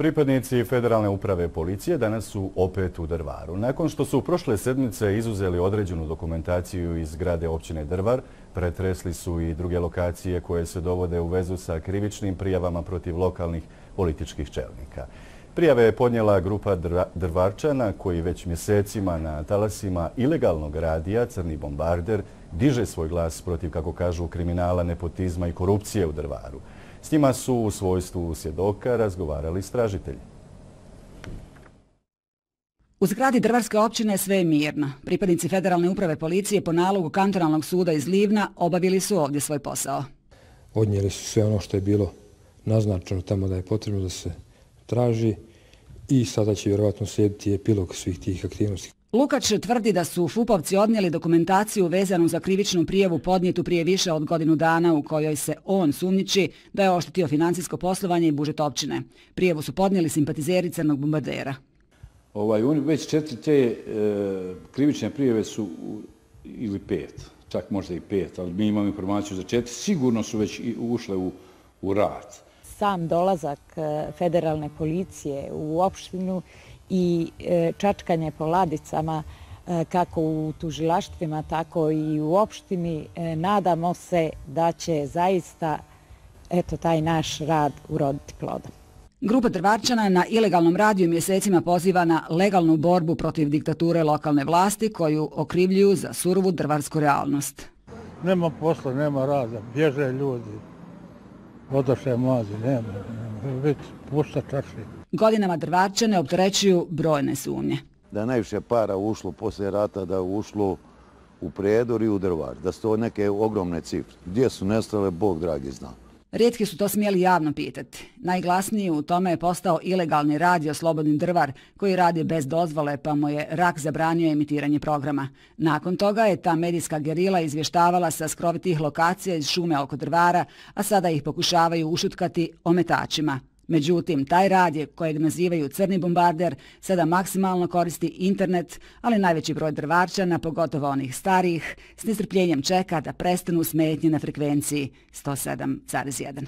Pripadnici Federalne uprave policije danas su opet u Drvaru. Nakon što su prošle sedmice izuzeli određenu dokumentaciju iz zgrade općine Drvar, pretresli su i druge lokacije koje se dovode u vezu sa krivičnim prijavama protiv lokalnih političkih čelnika. Prijave je podnijela grupa Drvarčana koji već mjesecima na talasima ilegalnog radija Crni bombarder diže svoj glas protiv, kako kažu, kriminala, nepotizma i korupcije u Drvaru. S njima su u svojstvu svjedoka razgovarali istražitelji. U zgradi Drvarske općine sve je mirno. Pripadnici Federalne uprave policije po nalogu kantonalnog suda iz Livna obavili su ovdje svoj posao. Odnijeli su sve ono što je bilo naznačeno tamo da je potrebno da se traži i sada će vjerovatno slijediti epilog svih tih aktivnosti. Lukač tvrdi da su FUP-ovci odnijeli dokumentaciju vezanu za krivičnu prijavu podnijetu prije više od godinu dana u kojoj se on sumnjiči da je oštetio financijsko poslovanje i budžet općine. Prijavu su podnijeli simpatizeri Crnog bombardera. Već 4 te krivične prijave su, ili 5, čak možda i 5, ali mi imamo informaciju za 4, sigurno su već ušle u rad. Sam dolazak federalne policije u opštinu i čačkanje po ladicama kako u tužilaštvima, tako i u opštini, nadamo se da će zaista taj naš rad uroditi plodom. Grupa Drvarčana na ilegalnom radiju mjesecima poziva na legalnu borbu protiv diktature lokalne vlasti koju okrivljuju za surovu drvarsku realnost. Nema posla, nema rada, bježe ljudi, odoše mladi, nema, već pušta čaši. Godinama Drvarčane opterećuju brojne sumnje. Da je najviše para ušlo poslije rata, da je ušlo u Prijedor i u Drvar, da su to neke ogromne cifre. Gdje su nestale, Bog dragi zna. Rijetki su to smjeli javno pitati. Najglasniji u tome je postao ilegalni radio Slobodni Drvar, koji radi bez dozvole, pa mu je RAK zabranio emitiranje programa. Nakon toga je ta medijska gerila izvještavala sa skrovitih lokacija iz šume oko Drvara, a sada ih pokušavaju ušutkati ometačima. Međutim, taj radij, kojeg nazivaju Crni bombarder, sada maksimalno koristi internet, ali najveći broj Drvarčana, pogotovo onih starijih, s nestrpljenjem čeka da prestanu smetnje na frekvenciji 107,1.